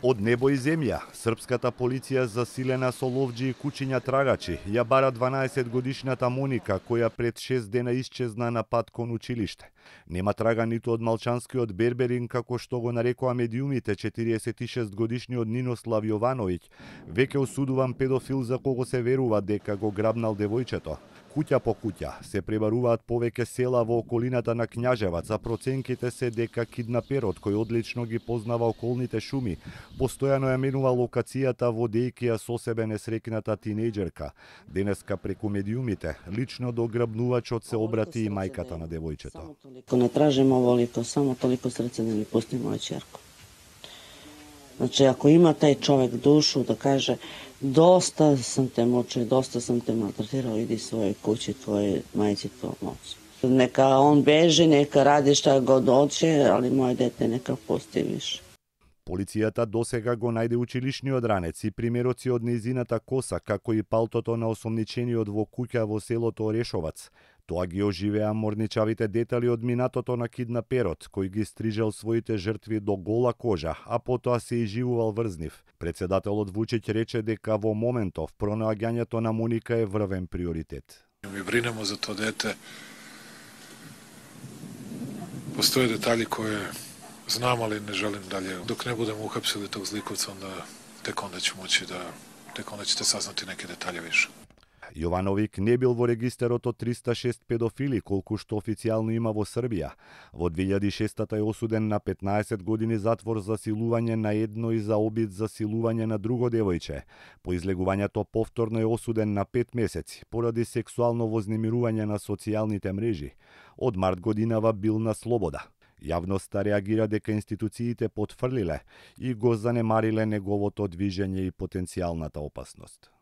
Од небо и земја, српската полиција засилена со ловџи и кучиња трагачи ја бара 12-годишната Моника, која пред 6 дена исчезна на пат кон училиште. Нема трага ниту од малчанскиот берберин, како што го нарекоа медиумите 46-годишниот Нинослав Јовановиќ, веќе осудуван педофил за кого се верува дека го грабнал девојчето. Куќа по куќа се пребаруваат повеќе села во околината на Књажевац, а проценките се дека киднаперот, кој одлично ги познава околните шуми, постојано ја менува локацијата водејќи ја со себе несрекната тинејџерка. Денеска преку медиумите, лично до грабнувачот се обрати и мајката на девојчето. Не тражим оволико, само толико срце да ми пусти моја ќерка. Значи, ако има тај човек душу да каже доста сам те мучил, доста сам те малтретирал, иди своје куќи, твоје мајци, твој моц. Нека он бежи, нека ради šta god hoće, ali моје дете нека пусти више. Полицијата досега го најде училишниот ранец и примероци од нејзината коса, како и палтото на осомничениот во куќа во селото Орешовац. Тоа ги оживеа морничавите детали од минатото на киднаперот, кој ги стрижал своите жртви до гола кожа, а потоа се изживувал врз нив. Председателот Вучиќ рече дека во моментов пронаоѓањето на Моника е врвен приоритет. Ми бринемо за тоа дете. Постоje детали koje znam, ali ne želim dalje. Dok ne budemo uhapsili tog zlikovca, tek onda ćete saznati neke detalje više. Јовановиќ не бил во регистерот од 306 педофили, колку што официјално има во Србија. Во 2006 е осуден на 15 години затвор за силување на едно и за обид за силување на друго девојче. По излегувањето повторно е осуден на 5 месеци, поради сексуално вознемирување на социјалните мрежи. Од март годинава бил на слобода. Јавноста реагира дека институциите потврлиле и го занемариле неговото движење и потенцијалната опасност.